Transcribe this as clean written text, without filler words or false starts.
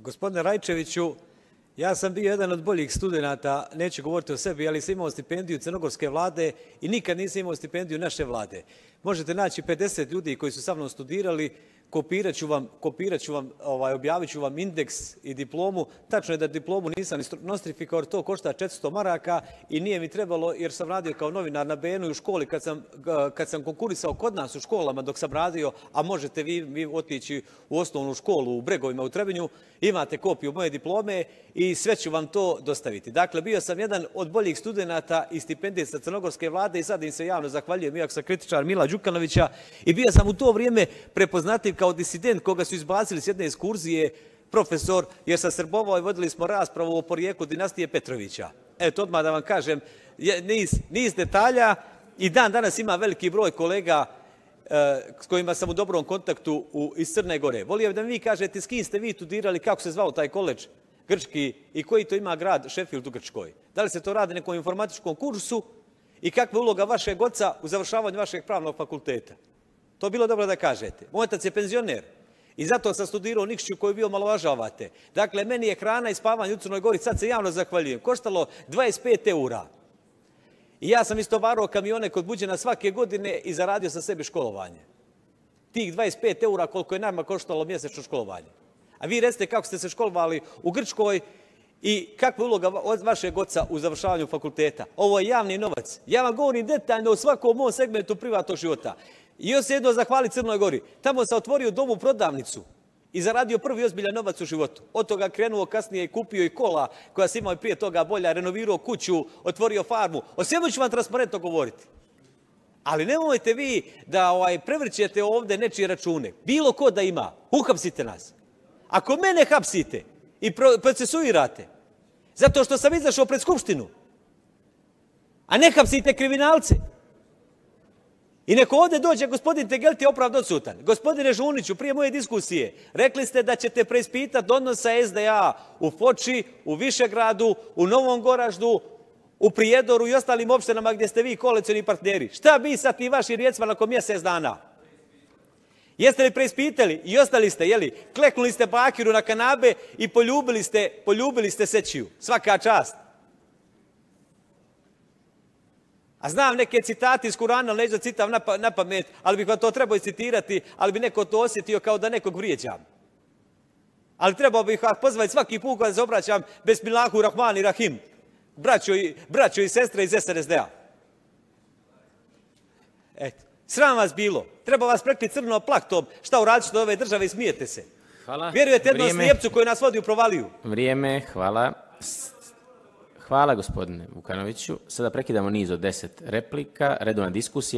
Gospodine Rajčeviću, ja sam bio jedan od boljih studenata, neću govoriti o sebi, ali sam imao stipendiju crnogorske vlade i nikad nisam imao stipendiju naše vlade. Možete naći 50 ljudi koji su sa mnom studirali, kopirat ću vam, objavit ću vam indeks i diplomu. Tačno je da diplomu nisam nostrifikao, to košta 400 maraka i nije mi trebalo jer sam radio kao novinar na BN-u i u školi kad sam konkurisao kod nas u školama dok sam radio, a možete vi otići u osnovnu školu u Bregovima u Trebinju, imate kopiju moje diplome i sve ću vam to dostaviti. Dakle, bio sam jedan od boljih studenata i stipendista crnogorske vlade i sad im se javno zahvaljujem, iako sam kritičar Mila Đukanovića, i bio sam u to vrijeme prepoznatljiv kao disident koga su izbacili s jedne ekskurzije profesor, jer sam srbovao i vodili smo raspravu o porijeklu dinastije Petrovića. Eto, odmah da vam kažem, niz detalja i dan danas ima veliki broj kolega s kojima sam u dobrom kontaktu iz Crne Gore. Volio da mi vi kažete s kim ste vi studirali, kako se zvao taj koledž grčki i koji to ima grad Sheffield u Grčkoj. Da li se to radi nekom informatičkom kursu i kakva je uloga vašeg oca u završavanju vašeg pravnog fakulteta. To je bilo dobro da kažete. Moj otac je penzioner i zato sam studirao u Nikšiću koju vi omalovažavate. Dakle, meni je hrana i spavanje u Crnoj Gori, sad se javno zahvaljujem, koštalo 25 eura. I ja sam istovarao kamione kod Buđena svake godine i zaradio sa sebi školovanje. Tih 25 eura koliko je nama koštalo mjesečno školovanje. A vi recite kako ste se školovali u Grčkoj i kakva je uloga od vašeg oca u završavanju fakulteta. Ovo je javni novac. Ja vam govorim detaljno o svakom mom segmentu privatnog života. I još se jedno zahvali Crnoj Gori. Tamo sam otvorio domu prodavnicu i zaradio prvi ozbiljan novac u životu. Od toga krenuo kasnije i kupio i kola koja sam imao i prije toga bolja, renovirao kuću, otvorio farmu. O svemu ću vam transparentno govoriti. Ali nemojte vi da prevrćete ovdje nečije račune. Bilo ko da ima, uhapsite nas. Ako mene hapsite i procesuirate zato što sam izašao pred Skupštinu, a ne hapsite kriminalce, i neko ovdje dođe, gospodin Tegelti je opravdano odsutan. Gospodine Žuniću, prije moje diskusije, rekli ste da ćete preispitati odnosa SDA u Foči, u Višegradu, u Novom Goraždu, u Prijedoru i ostalim opštinama gdje ste vi koalicioni partneri. Šta bi sa tim vašim rijecima nakon mjesec dana? Jeste li preispitali? I ostali ste, jeli? Kleknuli ste Bakiru na kanabe i poljubili ste Sećiju. Svaka čast. A znam neke citati iz Kurana, neću da citam na pamet, ali bih vam to trebao citirati, ali bi neko to osjetio kao da nekog vrijeđam. Ali trebao bih vas pozvati svaki put kada se obraćam Besmilahu Rahmani Rahim, braćo i sestre iz SNSD-a. Eto, sram vas bilo. Treba vas prekriti crno plaktom šta uradite od ove države i smijete se. Hvala. Vjerujete jednom slijepcu koji nas vodi u provaliju. Vrijeme, hvala. Hvala gospodine Vukanoviću. Sada prekidamo niz od 10 replika, redovna diskusija.